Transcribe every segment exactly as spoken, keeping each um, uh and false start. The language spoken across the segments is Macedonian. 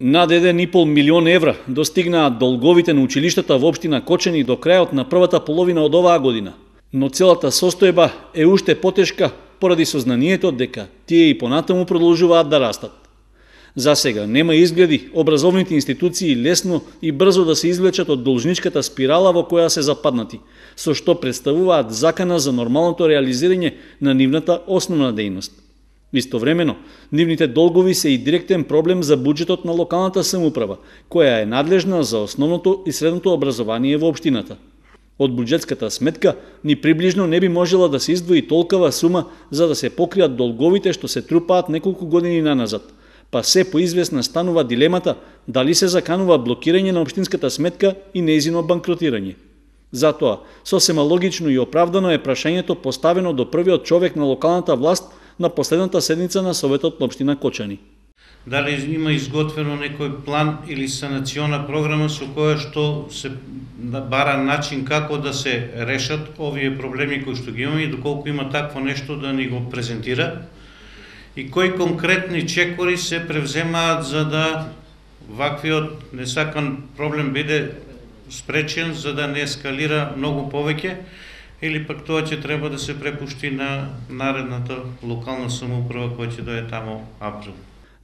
Над еден и пол милион евра достигнаат долговите на училиштата во општина Кочани до крајот на првата половина од оваа година. Но целата состојба е уште потешка поради сознанието дека тие и понатаму продолжуваат да растат. За сега нема изгледи образовните институции лесно и брзо да се извлечат од должничката спирала во која се западнати, со што представуваат закана за нормалното реализирање на нивната основна дејност. Истовремено, нивните долгови се и директен проблем за буџетот на локалната самоуправа, која е надлежна за основното и средното образование во општината. Од буџетската сметка ни приближно не би можела да се издвои толкова сума за да се покријат долговите што се трупаат неколку години наназад, па се поизвестна станува дилемата дали се заканува блокирање на општинската сметка и нејзино банкротирање. Затоа, сосема логично и оправдано е прашањето поставено до првиот човек на локалната власт на последната седница на Советот на општина Кочани. Дали има изготвено некој план или санациона програма со која што се бара начин како да се решат овие проблеми кои што ги имаме и доколку има такво нешто да ни го презентира и кои конкретни чекори се превземаат за да ваквиот несакан проблем биде спречен, за да не ескалира многу повеќе, или пак тоа ќе треба да се препушти на наредната локална самоуправа која ќе дое тамо април.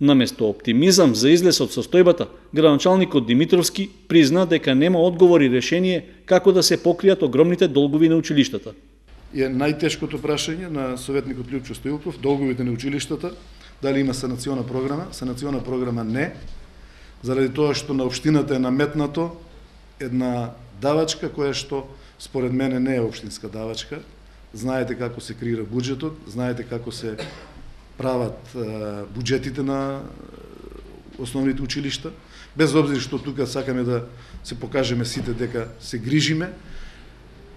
Наместо оптимизам за излез од состојбата, градоначалникот Димитровски призна дека нема одговор и решение како да се покријат огромните долгови на училиштата. Е најтешкото прашање на советникот Лјупчо Стоилков, долговите на училиштата, дали има санациона програма? Санациона програма не, заради тоа што на општината е наметнато една давачка која што според мене не е општинска давачка. Знаете како се креира буџетот, знаете како се прават буџетите на основните училишта, без обзир што тука сакаме да се покажеме сите дека се грижиме.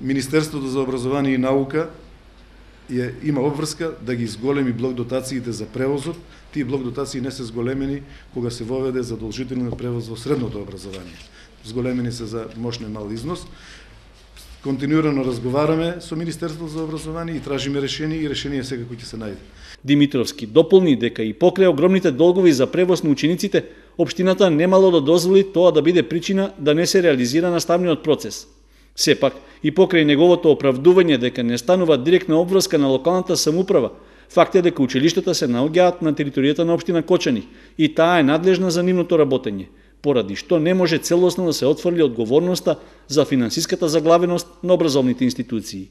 Министерството за образование и наука е, има обврска да ги изголеми блок дотациите за превозот. Тие блок дотации не се зголемени кога се воведе задолжителен превоз во средното образование. Зголемени се за мошне мал износ. Континуирано разговараме со Министерството за образование и тражиме решение и решение секако ќе се најде. Димитровски дополни дека и покрај огромните долгови за превоз на учениците, општината немало да дозволи тоа да биде причина да не се реализира наставниот процес. Сепак, и покрај неговото оправдување дека не станува директна обврска на локалната самоуправа, факт е дека училиштата се наоѓаат на територијата на општина Кочани и таа е надлежна за нивното работење, поради што не може целосно да се отфрли одговорноста за финансиската заглавеност на образовните институции.